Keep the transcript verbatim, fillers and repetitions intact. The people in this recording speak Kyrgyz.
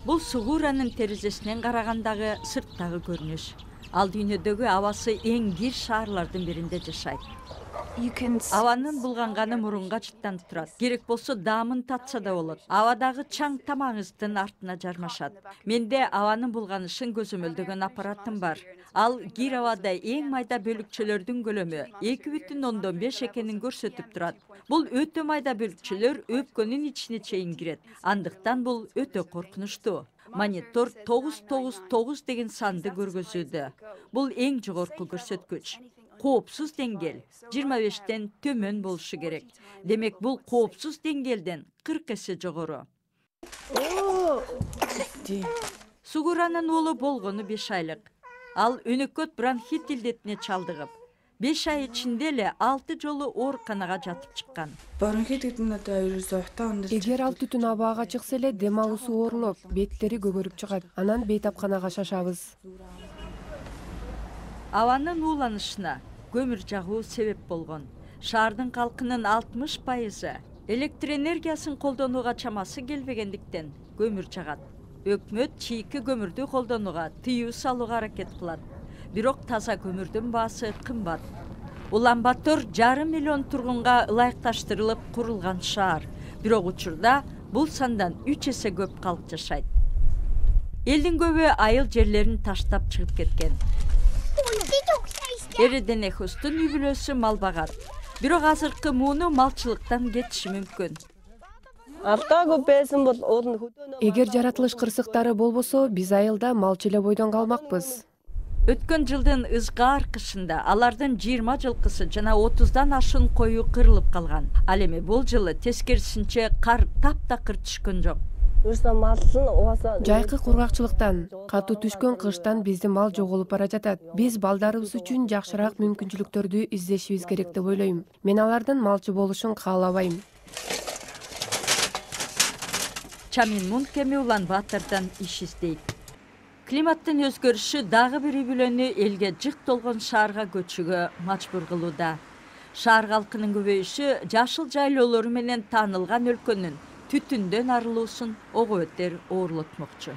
Бул Сугуранын терезесинен карагандагы сырттагы көрүнүш. Ал дүйнөдөгү абасы эң кир шаарлардын биринде жашайт. Абанын булганганы мурунга чыттанып турат. Керек болсо даамын татса да болот. Абадагы чаң тамагыңыздын артына жармашат. Менде абанын булганышын көзөмөлдөгөн аппаратым бар. Ал кир абада эң майда бөлүкчөлөрдүн көлөмү эки бүтүн ондон беш экенин көрсөтүп турат. Бул өтө майда бөлүкчөлөр өпкөнүн ичине чейин кирет. Андыктан бул өтө коркунучтуу. Монитор тогуз тогуз тогуз деген санды көргөзүүдө. Бул эң жогорку көрсөткүч. Коопсуз деңгээл жыйырма бештен төмөн болушу керек. Демек бул коопсуз деңгээлден кырк эсе жогору. Сугуранын уулу болгону беш айлык. Ал өнөкөт бронхит илдетине чалдыгып, беш ай ичинде эле алты жолу ооруканага жатып чыккан. Эгер ал түтүн абага чыкса эле дем алуусу оорулуп, беттери көгөрүп чыгат. Анан бейтапканага шашабыз. Абанын ууланышына көмүр жагуу себеп болгон. Шаардын калкынын алтымыш пайызы электр энергиясын колдонууга чамасы келбегендиктен көмүр жагат. Өкмөт чийки көмүрдү колдонууга тыюу салууга аракет кылат. Бирок таза көмүрдүн баасы кымбат. Улан-Батор жарым миллион тургунга ылайыкташтырылып курулган шаар. Бирок учурда бул сандан үч эсе көп калк жашайт. Элдин көбү айыл жерлерин таштап чыгып кеткен. Эрденехустун үй бүлөсү мал багат. Бирок азыркы мууну малчылыктан кетиши мүмкүн. Эгер жаратылыш кырсыктары болбосо, биз айылда малчы эле бойдон калмакпыз. Өткөн жылдын ызгаар кышында алардын жыйырма жылкысы жана отуздан ашуун кою кырылып калган. Ал эми бул жылы тескерисинче кар таптакыр түшкөн жок. Жайкы кургакчылыктан, катуу түшкөн кыштан биздин мал жоголуп бара жатат. Биз балдарыбыз үчүн жакшыраак мүмкүнчүлүктөрдү издешибиз керек деп ойлойм. Мен алардын малчы болушун каалабайм. Чамин Мункеми Улан-Батордон иш издейт. Климаттын өзгөрүшү дагы бир үй бүлөнү элге жык толгон шаарга көчүүгө мажбур кылууда. Шаар калкынын көбөйүшү жашыл жайлоолору менен таанылган өлкөнүн түтүндөн арылуусун ого бетер оорлотмокчу.